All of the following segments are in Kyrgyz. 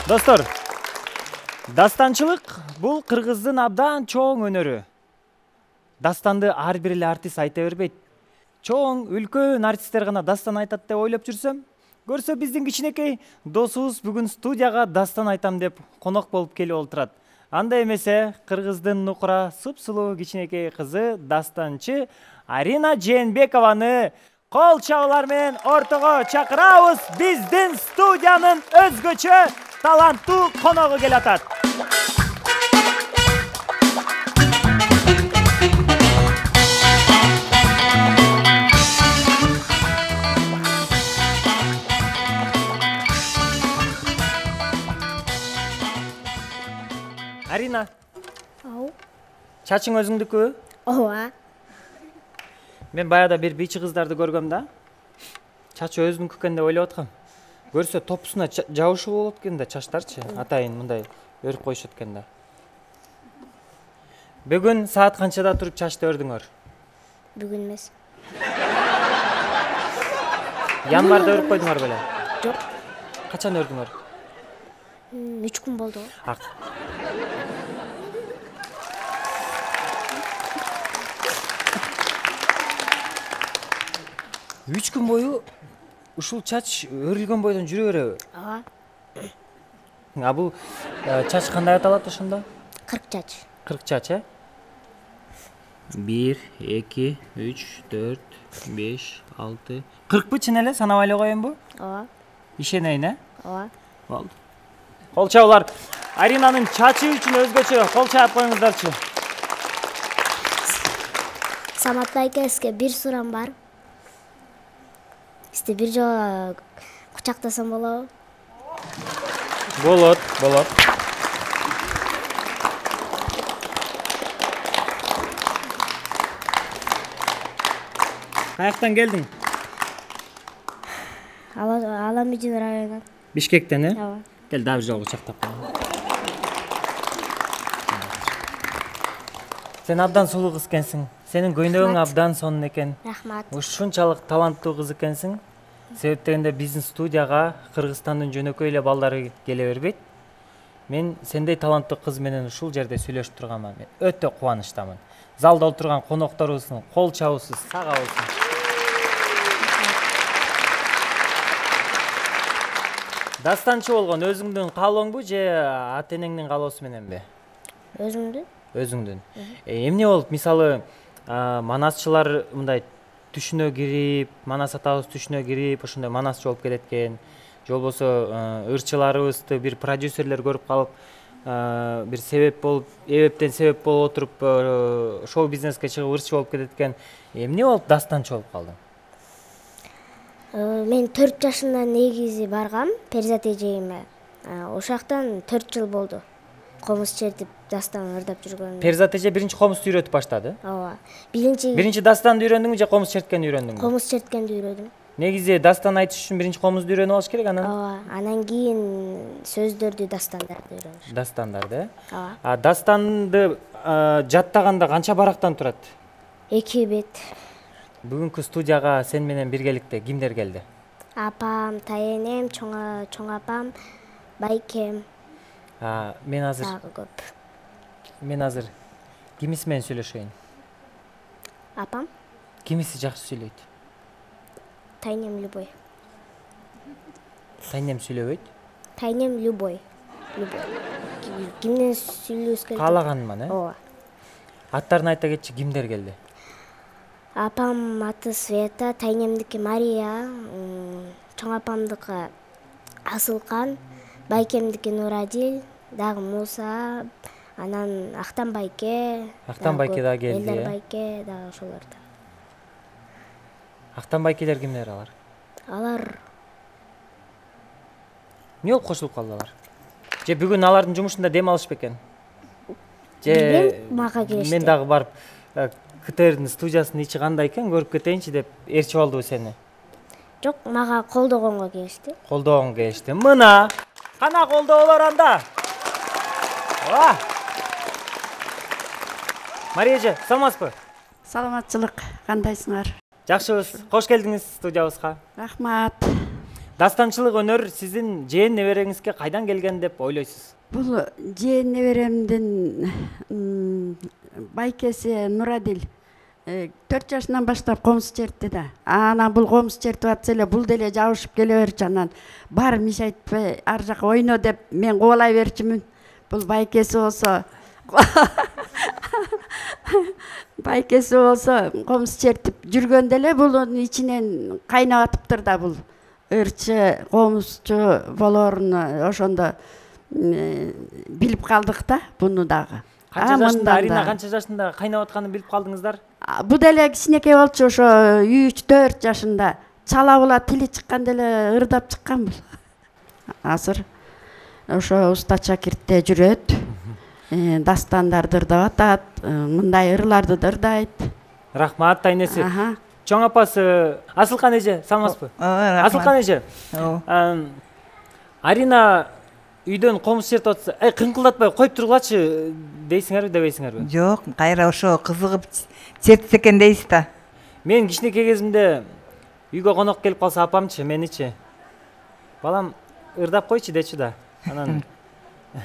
Достор, дастанчылык бул кыргыздын абдан чоң өнөрү. Дастанды ар бир эле артист айта бербейт. Чоң, үлкөн артисттер гана дастан айтат деп ойлоп жүрсөм, көрсө биздин кичинекей досубуз бүгүн студияга дастан айтам деп конок болуп келип олтурат. Анда эмесе, кыргыздын нукура сып-сулуу кичинекей кызы дастанчы Арина Жээнбекованы кол чабуулар менен ортого чакырабыз. Биздин студиянын өзгөчө таланттуу коногу келип атат. Арина. Ау. Чачың өзүңдүкү? Ооба. Мен баягыда бир бийчи кыздарды көргөм да. Чачы өзүнүкү экен деп ойлоп аткам. Көрсө топусуна жабышуу болот экен да, чачтарчы. Атайын мындай өрүп коюшат экен да. Бүгүн саат канчада туруп чачты өрдүңөр? Бүгүн эмес. Январда өрүп койдуңар беле? Жок. Качан өрдүңөр? 3 күн болду. 3 күн бою ушул чач өрүлгөн бойдон жүрө береби? Ооба. А бул чач кандай аталат ошондо? 40 чач. 40 чач, э? 1, 2, 3, 4, 5, 6. 40 чын эле санабай эле коеюнбу? Ооба. Ишенейин, э? Ооба. Болду. Кол чабуулар Аринанын чачы үчүн өзгөчө кол чаап коюңуздарчы. Самат байке, сизге бир суроом бар. Сизди бир жолу кучактасам болобу? Болот, болот. Каяктан келдиң? Аламижин районунан. Бишкектен, э? Ооба. Кел, дагы бир жолу кучактап коелу. Сен абдан сулуу кыз экенсиң. Сенин көйнөгүң абдан сонун экен. Рахмат. Ушунчалык таланттуу кыз экенсиң. Себеп дегенде биздин студияга Кыргызстандын жөнөкөй эле балдары келе бербейт. Мен сендей таланттуу кыз менен ушул жерде сүйлөшүп турганга мен өтө кубанычтамын. Залда отурган конокторубуздун кол чабуусу сага болсун. Дастанчы болгон өзүңдүн каалооңбу же ата энеңдин каалоосу мененби? Өзүңдүн? Өзүңдүн. Эмне болуп, мисалы, манасчылар мындай түшүнө кирип, Манас атабыз түшүнө кирип, ошондой манасчы болуп кетет экен. Же болбосо ырчыларыбызды бир продюсерлер көрүп калып, бир себеп болуп, эбептен себеп болуп отуруп, шоу бизнеске чыгып ырчы болуп кетет экен. Эмне болуп дастанчы болуп калдың? Мен 4 жашымдан негизи баргам Перизат эжейиме. Ошактан 4 жыл болду. Комуз чертип, дастан ырдап жүргөн. Перизат эже биринчи комузду үйрөтүп баштады? Ооба. Биринчи дастанды үйрөндүңбү же комуз черткенди үйрөндүңбү? комуз черткенди үйрөдүм. Негизи дастан айтыш үчүн биринчи комузду үйрөнүп алыш керек, анан? Ооба. Анан кийин сөздөрдү, дастандарды үйрөнүш. Дастандарды, э? Ооба. Дастанды жаттаганда канча барактан турат? 2 бет. Бүгүнкү студияга сен менен биргеликте кимдер келди? Апам, тайенем, чоң апам, байкем. Мен азыр Дагы көп. кимиси менен сүйлөшөйүн? Апам, Кимиси жакшы сүйлөйт? тайенем Любой. Тайнем сүйлөбөйт? Тайенем Любой. Кимден сүйлөшүбүз керек? Каалаганман, э? Ооба. Аттарын айта кетчи, кимдер келди? Апам аты Света, тайенемдики Мария, чоң апамдыкы Асылкан, байкемдики Нурадил, дагы Муса, анан Актан байке. Актан байке дагы келди, Элдар байке, дагы ошолор да. Актан байкелер кимдер алар? Алар Эмне болуп кошулуп калдылар? Же бүгүн алардын жумушунда дем алыш бекен? Же мага келишти. Мен дагы барып КТРдин студиясынын ичи кандай экен көрүп кетейинчи деп ээрчип алдыбы сени? Жок, мага колдогонго келишти. Колдогонго келишти. Мына кана колдоолор анда. Мария эже, саламатсызбы? Саламатчылык, кандайсыңар? Жакшыбыз. Кош келдиңиз студиябызга. Рахмат. дастанчылык өнөр сиздин жээн небереңизге кайдан келген деп ойлойсуз? Бул жээн неберемдин байкеси Нурадил 4 жашынан баштап комуз чертти да. Анан бул комуз чертип атса эле бул деле жабышып келе берчү. Анан бар миш айтпай ар жака ойно деп мен кубалай берчүмүн. Бул байкеси болсо комуз чертип жүргөндө эле булун ичинен кайнап атыптыр да бул. Ырчы комузчу болоорун ошондо билип калдык да буну дагы. Арина канча жашында кайнап атканын билип калдыңыздар? Бу деле кичинекей болчу, ошо 3-4 жашында. Чала була тили чыкканда эле ырдап чыккан бул. Азыр ошо уста шакиртте жүрөт. Дастандарды ырдап атат, мындай ырларды ырдайт. Рахмат тайнеси. Чоң апасы Асылкан эже, саламатсызбы? Асылкан эже. Арина үйдөн комуз чертип атса, кыңкылдатпай коюп тургулачы дейсиңерби, дебейсиңерби? Жок, кайра ошо кызыгып чертсе экен дейсиз да. Мен кичинекей кезимде үйгө конок келип калса апамчы, меничи. Балам ырдап койчу дечү да. Анан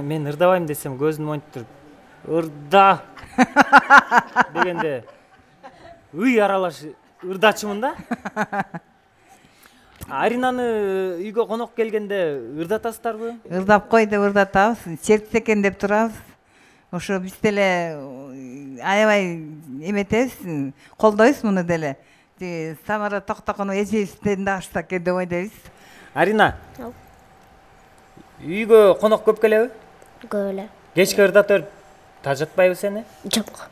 мен ырдабайм десем көзүн монтуп ырда дегенде үй аралаш ырдачумун да. Аринаны үйгө конок келгенде ырдатасыздарбы? Ырдап кой деп ырдатабыз, чертсе экен деп турабыз. Ошо биз деле аябай эметебиз, колдойбуз муну деле. Самара Токтоконов эжебизден да ашса экен деп ойлойбуз. Арина. Үйгө конок көп келеби? Көп эле. Кечке ырдап берип тажатпайбы сени? Жок.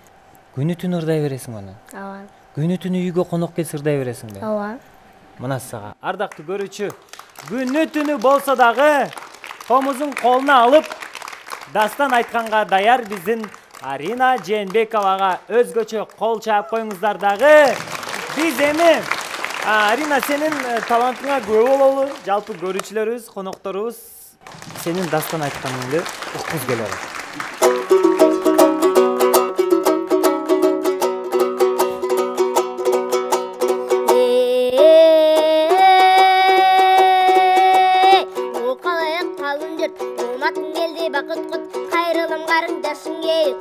Күнү түнү ырдай бересиң аны? Ооба. Күнү түнү үйгө конок келсе ырдай бересиңби? Ооба. Мына сага, ардактуу көрүүчү, күнү түнү болсо дагы комузун колуна алып дастан айтканга даяр биздин Арина Жээнбековага өзгөчө кол чаап коюңуздар дагы. Биз эми Арина сенин талантыңа күбө бололу. Жалпы көрүүчүлөрүбүз, конокторубуз сенин дастан айтканыңды уккуз келе алат.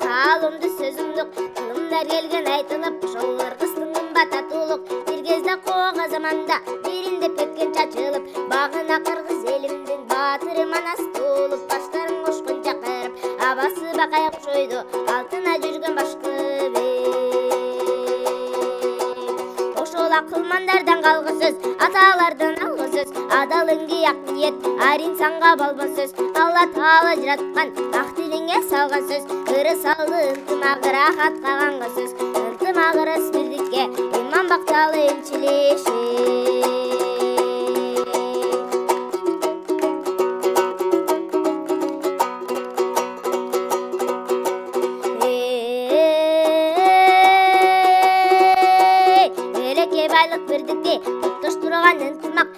Калымды сөзүмдүк, кылымдар келген айтылып, жоллор кыстыңын бататуулук. Бир кезде коога заманда, бириндеп кеткен чачылып, багына кыргыз элимдин баатыры манас туулуп, баштарын кошкунча кырып, абасы бакай окшойду, алтына жүргөн башкы бек. Ошол акылмандардан калгы сөз, аталардан алгы сөз, адалыңды ак ниет, аринсанга балбан сөз, Алла Таала жараткан ак тилиңе салган сөз, ыры салды ынтымак рахат каганга сөз, ынтымак ырыс бирдикке, иман бакталы энчилеши. Элеке байлык бирдикке, тоштурган ынтымак,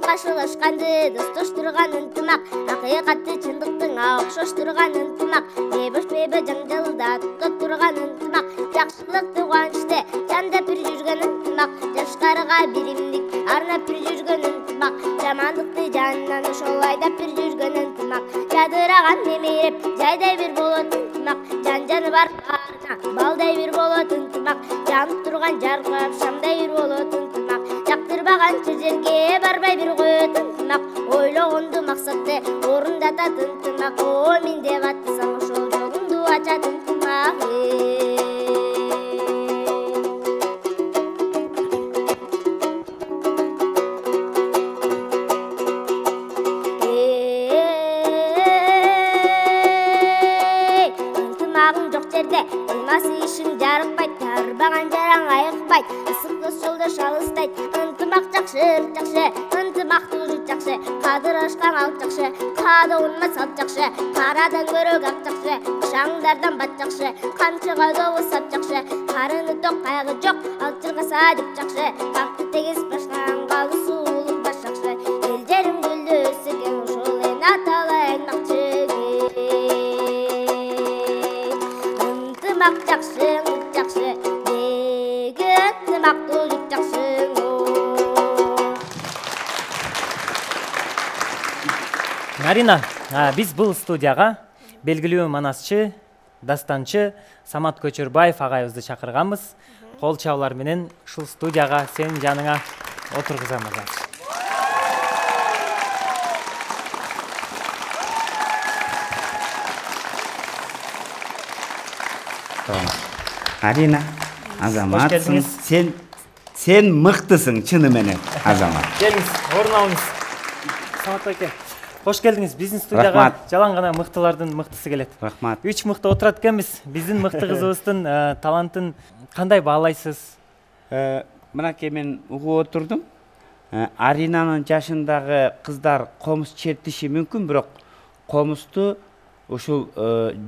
кашылашканды достоштурган ынтымак, акыйкатты чындыктың окшоштурган ынтымак, бейбош бейбе жаңжалда тоттурган ынтымак, жакшылыкты кубанычты жандап бир жүргөн ынтымак, жашкарга биримдик арнап бир жүргөн ынтымак, жамандыкты жанынан ошол айдап бир жүргөн ынтымак, жадыраган немереп жайдай бир болот ынтымак, жан-жаны бар баарына балдай бир болот ынтымак, жанып турган жаркырап шамдай бир болот ынтымак, жактырбаганчы жерге барбай бир коет ынтымак, ойлогонду максатты орундатат ынтымак, мен деп атсам ошол жолумду ачат ынтымак. Ынтымагың жок жерде ылмасы ишин жарыкпайт, тарбаган жараң айыкпайт, ысык жолдош алыстайт. Ынтымак жакшы, ынтымактуу жут жакшы, кадырашкан алт жакшы, каада урмат салт жакшы, карадан көрөк ак жакшы, шаңдардан бат жакшы, камчыга добу сап жакшы, карыны ток кайгы жок, алчырга садик жакшы, какты тегиз башкан калы суулук баш жакшы, эл жерим гүлдү өсүргөн ошол эн аталы аймакчы. Ынтымак жакшы, деги ынтымактуу жут жакшы. Арина, биз бул студияга белгилүү манасчы, дастанчы Самат Көчөрбаев агайыбызды чакырганбыз. Кол чабуулар менен ушул студияга сенин жаныңа отургузамыз. Арина, Азамат, сен мыктысың чыны менен, Азамат. Келиңиз, орун алыңыз. Самат байке, кош келдиңиз. Биздин студияга жалаң гана мыктылардын мыктысы келет. Рахмат. 3 мыкты отурат экенбиз. Биздин мыкты кызыбыздын талантын кандай баалайсыз? Мынакей мен угуп отурдум. Аринанын жашындагы кыздар комуз чертиши мүмкүн, бирок комузду ушул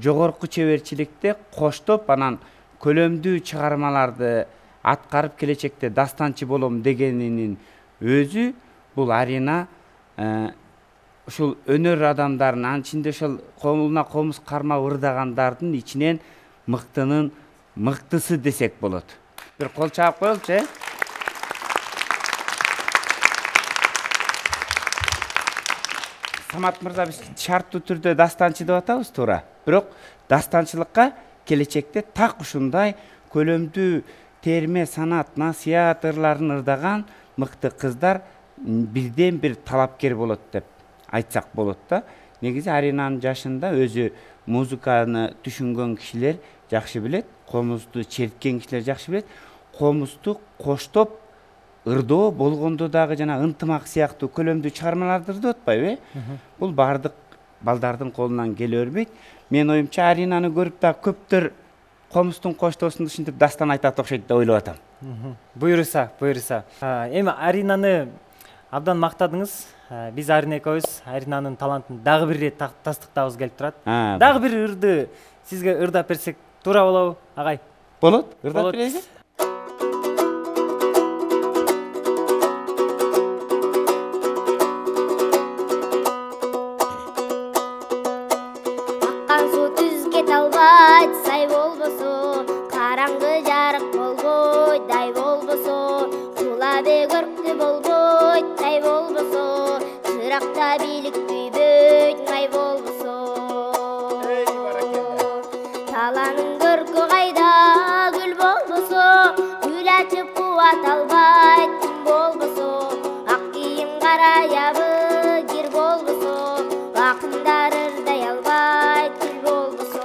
жогорку чеберчиликте коштоп, анан көлөмдүү чыгармаларды аткарып келечекте дастанчы болом дегенинин өзү бул Арина ушул өнөр адамдарынын, анын ичинде ошол колуна комуз кармап ырдагандардын ичинен мыктынын мыктысы десек болот. Бир кол чаап коелучу, Самат мырза, биз шарттуу түрдө дастанчы деп атабыз, туура. Бирок дастанчылыкка келечекте так ушундай көлөмдүү терме, санат, насият ырларын ырдаган мыкты кыздар бирден бир талапкер болот деп айтсак болот да. Негизи Аринанын жашында өзү музыканы түшүнгөн кишилер жакшы билет, комузду черткен кишилер жакшы билет. Комузду коштоп ырдоо болгондо дагы жана ынтымак сыяктуу көлөмдүү чыгармаларды ырдап атпайбы? Бул бардык балдардын колунан келе бербейт. Мен оюмча Аринаны көрүп да көптөр комуздун коштоосун түшүнүп дастан айтат окшойт деп ойлоп атам. Буйруса. Эми Аринаны абдан мактадыңыз. Биз Арина экөөбүз Аринанын талантын дагы бир ирет тастыктабыз келип турат. Дагы бир ырды сизге ырдап берсек туура болобу, агай? Болот, ырдап берели. Аккан суу түзгө талбайт, сай болбосо, караңгы жарык болбойт, дай болбосо, кулабе көрктүү болбойт, тай болбосо, чыракта бийлик күйбөйт, май болбосо. Таланын көркү кайда, гүл болбосо, гүл ачып кубат албайт, күн болбосо, ак кийим караябы, кир болбосо, акындар ырдай албайт, күл болбосо.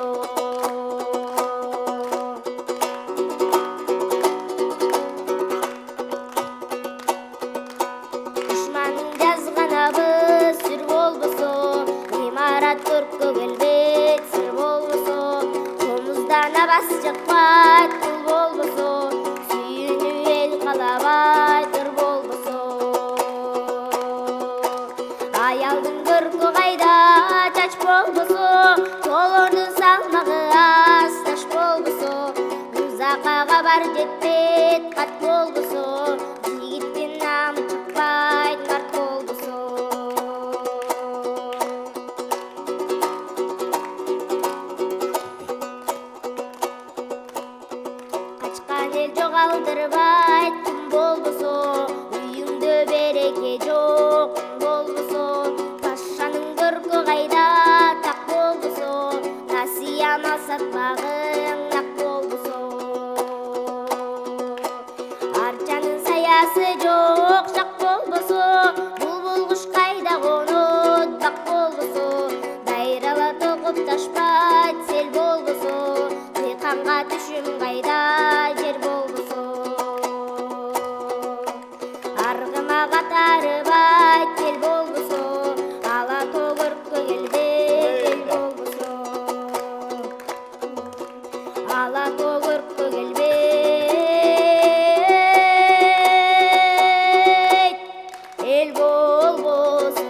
Душмандын жазганабы сүр болбосо, имарат көрккө келбейт, сыр болбосо, комуздан абас чыкпайт, кул болбосо, сүйүүнү эл каалабайт, ыр болбосо. Аялдын көркү кайда, чач болбосо, толордун салмагы аз, таш болбосо, узакага бар жетпейт, кат болбосо, жигиттин намы чыкпайт, карт болбосо. Качкан эл жогалдырбайт, күн болбосо, үйүңдө береке жок, күн болбосо, пашанын көркү кайда, так болбосо, насыя мал сатпагың ак болбосо. Арчанын саясы жок, жак болбосо, булбул куш кайда конот, бак болбосо, дайрала токуп ташпайт, сел болбосо, дыйканга түшүм кайда, жер болбосо. Аргыма катарыбайт, эл болбосо, ала тоо көрккө келбейт, эл болбосо. Ала тоо көрккө келбейт, эл болбосо.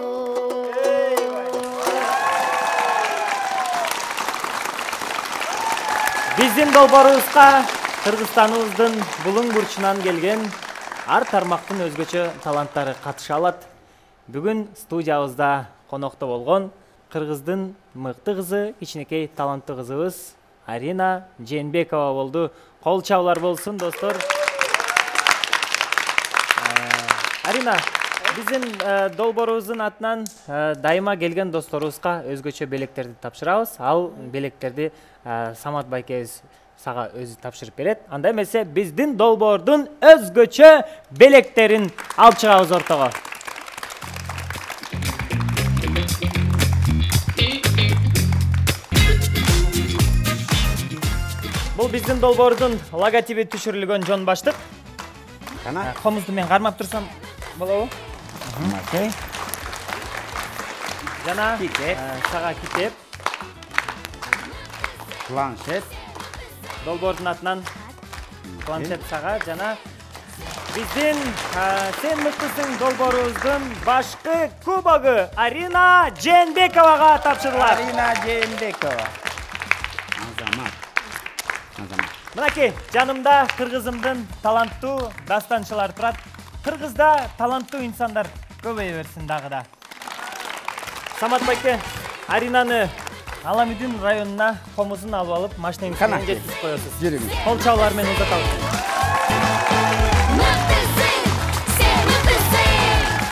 Биздин долбоорубузга Кыргызстаныбыздын булуң бурчунан келген ар тармактын өзгөчө таланттары катыша алат. Бүгүн студиябызда конокто болгон кыргыздын мыкты кызы, кичинекей таланттуу кызыбыз Арина Жээнбекова болду. Кол чабуулар болсун, достор. Арина, Биздин долбоорубуздун атынан дайыма келген досторубузга өзгөчө белектерди тапшырабыз. Ал белектерди Самат байкебиз сага өзү тапшырып берет. Анда эмесе биздин долбоордун өзгөчө белектерин алып чыгабыз ортого. Бул биздин долбоордун логотиби түшүрүлгөн жон баштык. Комузду мен кармап турсам болобу? Окей. Жана сага китеп. Планшет. Долбоордун атынан планшет сага жана биздин сен мыктысың долбоорубуздун башкы кубогу Арина Жээнбековага тапшырылат. Арина Жээнбекова. Азамат. Мынакей, жанымда кыргызымдын таланттуу дастанчылар турат. Кыргызда таланттуу инсандар көбөйө берсин дагы да. Самат байке, Аринаны Аламүдүн районуна комузун алып машинеңиз менен жеткизип коесуз. Жүрүңүз. Кол чабуулар менен узатабыз.